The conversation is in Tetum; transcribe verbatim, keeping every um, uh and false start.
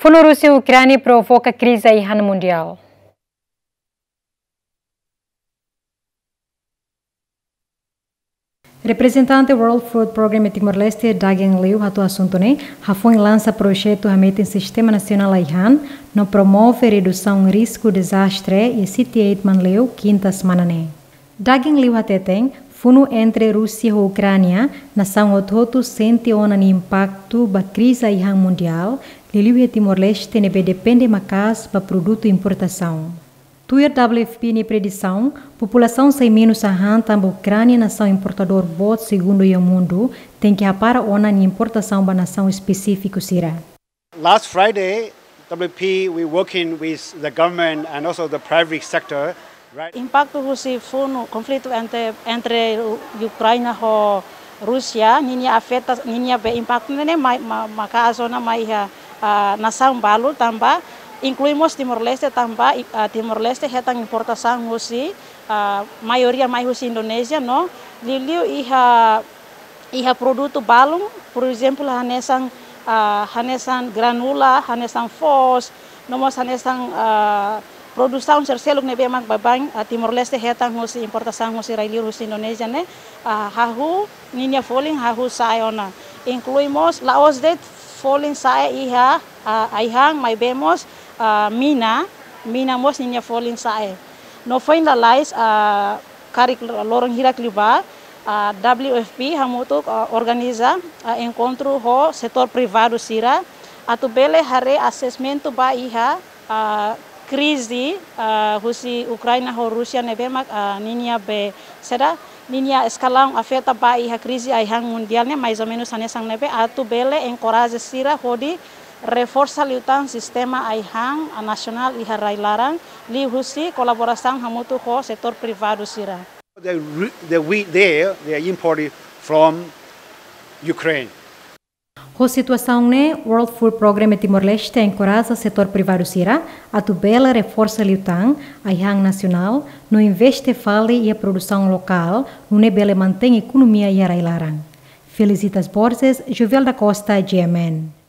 Funu Rúsia ho Ukránia provoka krize ai-han mundiál. Reprezentante World Food Programme Timor-Leste, Dagen Liu, hato'o asuntu ne'e hafoin lansa projetu hametin sistema nasionál ai-han no promove redusaun risku dezastre iha City Eight Manleu, kinta semana ne'e. Dagen Liu hateten, funu entre Rúsia ho Ukránia, nasaun hotu-hotu sente ona nia impaktu ba krize ai-han mundiál, liuliu iha Timor-Leste ne'ebé depende maka'as ba produtu importasaun. Tuir W F P nia predisaun, populasaun sai menus hahán tanba Ukránia nasaun importadór boot segundu iha mundu, tenke hapara ona nia importasaun ba nasaun espesífiku sira. Last Friday, W F P, we working with the government and also the private sector, right? Impaktu husi funu konflitu entre, entre U-, Ukraina ho Rúsia, ninia afeta, ninia be impaktu ne'e mai, ma-, maka'as ona mai iha, ah, nasaun balu tanba, inklui mós Timor-Leste tanba, i-, ah, Timor-Leste hetan importasaun husi, ah, maioria mai husi Indonézia no, liuliu iha iha produtu balun, por ezemplu, hanesan, ah, hanesan granula, hanesan foos, no mós hanesan, ah, produsaun sira seluk ne'ebé mak baibain, ah, Timor-Leste hetan husi importasaun husi rai-liur husi Indonézia ne'e, ah, hahú ninia folin hahú sa'e ona. Inklui mós la'ós de'it folin sa'e iha, ah, ai-han maibé mós, ah, mina, mina mós ninia folin sa'e. No foin lalais, ah, karik loron hirak liubá, ah, W F P hamutuk, ah, organiza, ah, enkontru ho setór privadu sira, atu bele haree asesmentu ba iha, ah, krize, ah, husi Ukraina ho Rúsia ne'ebé mak, ah, ninia be saida, ninia eskalaun afeta ba iha krize ai-han mundiál ne'e, mais ou menus hanesan ne'ebé, atu bele enkoraja sira hodi reforsa liután sistema ai-han, ah, nasionál iha rai-laran, liuhusi kolaborasaun hamutuk ho setór privadu sira. The re-, the wheat there, they are imported from Ukraine. Ho situasaun ne'e, World Food Programme Timor-Leste enkoraja setór privadu sira atu bele reforsa liután ai-han nasionál no investe fali iha produsaun lokál, nune'e bele mantein ekonomia iha rai-laran. Felicitas Borges, Jovel da Costa, G M N.